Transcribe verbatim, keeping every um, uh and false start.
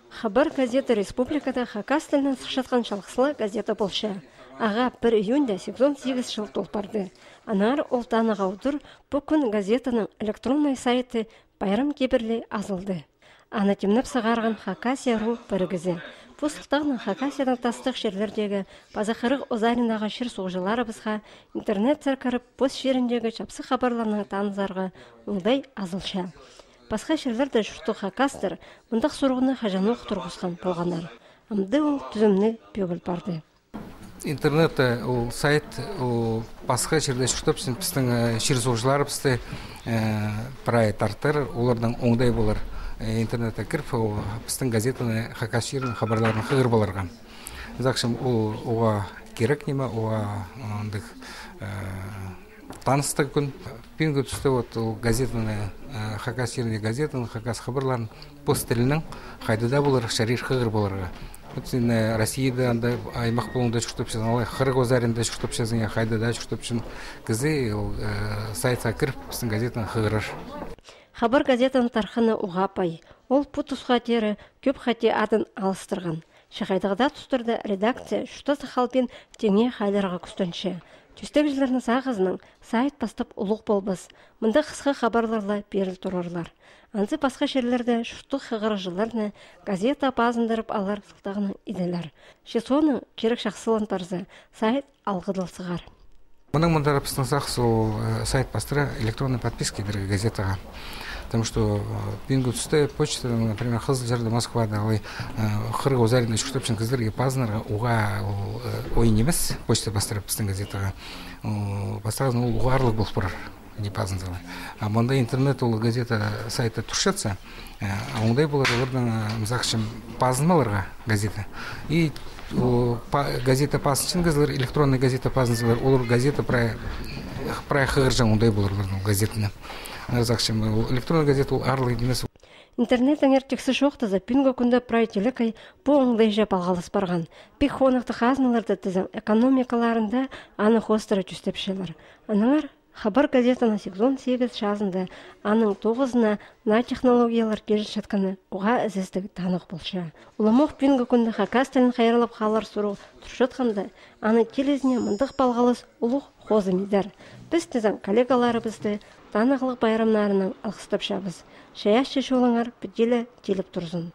«Хабар» газета республикада хакас тілінең сыхчатхан чалғыс ла газета полча. Ағаа пір июньда сигізон сигіс чыл тол парды. Аннаңар ол таныға удур пу кӱн газетаның электроннай сайты пайрам кибірли азылды. Аны тимнеп сығарған «Хакасия ру» пірігізі. Пу сылтағнаң Хакасияның тастығ чирлердегі паза хырығ озариндағы чир-суғҷыларыбысха интернетсер кіріп, пос чиріндегі чапсых хабарларнаң танызарға оңдай азылча. Пасха чирлерде чурттығ хакастар мындағ сурығны хаҷанох турғысхан полғаннар. Амды ол тӱзімніг пӧгіл парды. Интернетте ол сайт, ол пасха чирде чуртапчаң пістің, э, чир-суғҷыларыбысты, э, прай тартар, оларнаң оңдай полар, э, интернетке кіріп, ол пістің газетаны, хакас чирінің хабарларын хығырып аларға. Сағынчам, ол оға кирек ниме, оға, э, андағ, э, таныстығ кӱн. Пӱӱнгі туста вот ол газетаны, э, хакас чиріндегі газетаны, хакас хабарларын пос тілінең хайда даа полар чарир хығырып аларға. Вот син, э, Россияда анда аймах пулуңда чуртапчазың, алай хырығ озаринда чуртапчазың, я хайда даа чуртапчаң кізі, ол, э, сайтха кіріп, пістің газетаны хығырар. «Хабар» газетаның тархыны уғаа пай. Ол пу тусха теере кӧп хати адын алыстырған. Че хайдағ даа тустарда редакция чуртас халбин теңе хайларға кӱстенче. Тӧстегҷілернің сағызынаң сайт пастап улуғ полбас. Мында хысха хабарлар ла пиріл турарлар. Анзы пасха чирлерде чурттығ хығырығҷыларны газета пазындырып алар сылтағнаң иделер. Че соонаң кирек чахсылан парза, сайт алғыдыл сығар. Мының мында пістің сағыс ол, э, сайт пастыра электронный подписка идерге газетаға. Потому что, э, пӱӱнгі туста почта, например, Хызылчарда, Москвада, алай, э, хырығ озаринда чуртапчаң кізілерге пазынарға уғаа ол, э, ойын нимес, почта пастыра пістің газетаға. Ол пастағызын ол уғаа аарлығ пол парар, не пазынзалар. А мында интернет ол газета сайты турчатса, э, оңдай полар оларның, э, сағынчам, пазынмаларға газета. И, о, па-, газета пазынчаң кізілер, электронный газета пазынзалар, олар газета прай, прай хығырҷаң оңдай полар оларның газетаны. Сағынчам, ол электронный газета ол аарлығ нимес. Интернеттеңер тиксі чоохтаза, пӱӱнгі кӱнде прай телекей пу оңдайҷа палғалыс парған. Пик хоныхтығ хазналарда тізең, экономикаларында аны хоостыра тӧстепчелер. Аннаңар «Хабар» газетаның сигізон сигіс чазында аның тоғызына наа технологиялар килчеткені уғаа ізестіг таныхтығ полча. Уламох пӱӱнгі кӱнде хакас тілін хайраллап халар сурығ турчатханда, аның килізіне мындағ палғалыс улуғ хозым идер. Піс тізең коллегаларыбысты таныхлығ пайрамнарынаң алғыстапчабыс. Чайаачы чолыңар піди ле тиліп турзын.